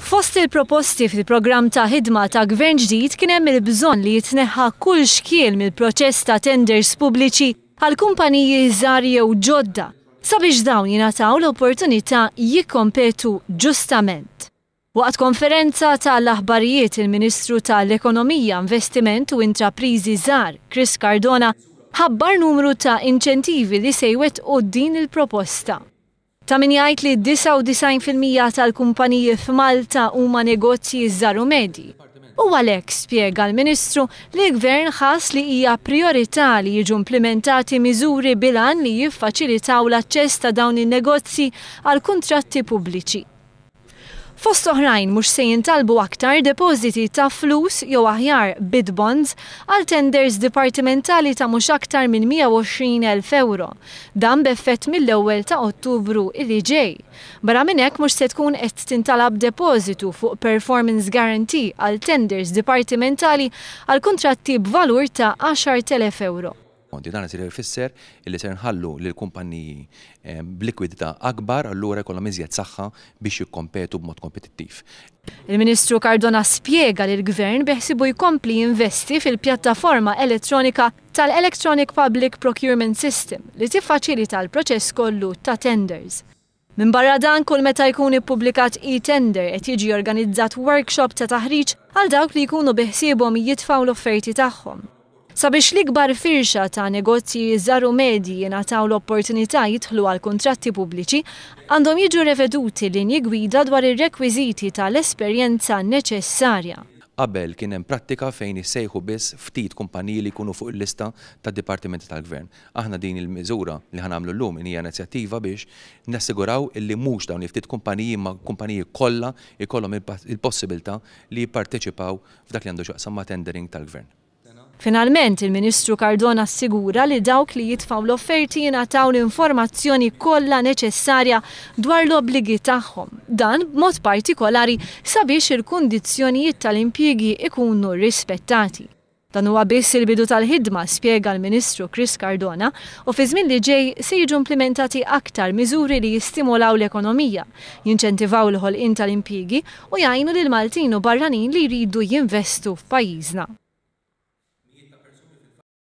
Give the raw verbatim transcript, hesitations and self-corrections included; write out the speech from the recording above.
Fost il-proposti fil-programm ta' ħidma ta' gvern ġdid kien hemm il-bżonn li jitneħħa kull xkiel mill-proċess ta' tenders pubbliċi għal kumpaniji żgħar jew ġodda sabiex dawn jingħataw l-opportunità jikkompetu ġustament. Waqt konferenza tal-aħbarijiet, il-Ministru tal-Ekonomija, Investiment u Intrapriżi Żgħar, Chris Cardona, ħabbar numru ta' inċentivi li se jwettqu din il-proposta. Ta' min jgħid li disgħa u disgħin fil-mija tal-kumpaniji f'Malta huma negozji żgħar u medji. U għalhekk, spjega l-Ministru, li l-Gvern ħass li hija priorità li jiġu implimentati miżuri bil-għan li jiffaċilitaw l-aċċess ta' dawn in-negozji għal kuntratti pubbliċi. Fost oħrajn, mhux se jintalbu aktar depożiti ta' flus, jew aħjar bid bonds, għal tenders dipartimentali ta' mhux aktar minn mija u għoxrin elf euro. Dan b'effett mill-ewwel ta' Ottubru illi ġej. Barra minn hekk, mhux se tkun qed tintalab depożitu fuq performance guarantee għal tenders dipartimentali għal kuntratti b'valur ta' għaxart elef euro. Dan se jfisser illi ser nħallu lil kumpanniji eh, b'likwidità akbar, allura jkollhom iżjed saħħa biex jikkompetu b'mod kompetittiv. Il-Ministru Cardona spjega li l-Gvern beħsibu jkompli jinvesti fil-pjattaforma elettronika tal-Electronic Public Procurement System li tiffaċilita l-proċess kollu ta' tenders. Min barra dan, kull meta jkun ippubblikat e-tender qed jiġi organizzat workshop ta' taħriġ għal dawk li jkunu biħsiebhom jitfgħu l-offerti tagħhom. Sabiex l-ikbar firxa ta' negozji żgħar u medji jingħataw l-opportunità jidħlu għal kuntratti pubbliċi, għandhom jiġu reveduti linji gwida dwar ir-rekwiżiti tal-esperjenza neċessarja. Qabel kien hemm prattika fejn issejħu biss ftit kumpaniji li jkunu fuq il-lista ta' dipartimenti tal-gvern. Aħna din il-miżura li ħa nagħmlu llum hija inizjattiva biex nassiguraw illi mhux dawn il-ftit kumpaniji imma kumpaniji kollha jkollhom il-possibilità li jipparteċipaw f'dak li għandu x'jaqsam ma' tendering tal-gvern. Finalment, il-Ministru Cardona assigura li dawk li jitfgħu l-offerti jingħataw l-informazzjoni kollha neċessarja dwar l-obbligi tagħhom. Dan b'mod partikolari sabiex il-kundizzjonijiet tal-impjiegi ikunu rispettati. Dan huwa biss il-bidu tal-ħidma, spjega l-Ministru Chris Cardona, u fi żmien li ġej se jiġu implimentati aktar miżuri li jistimolaw l-ekonomija, jinċentivaw il-ħolqien tal-impjiegi u jgħinu lil Maltin u barranin li jridu jinvestu f'pajjiżna.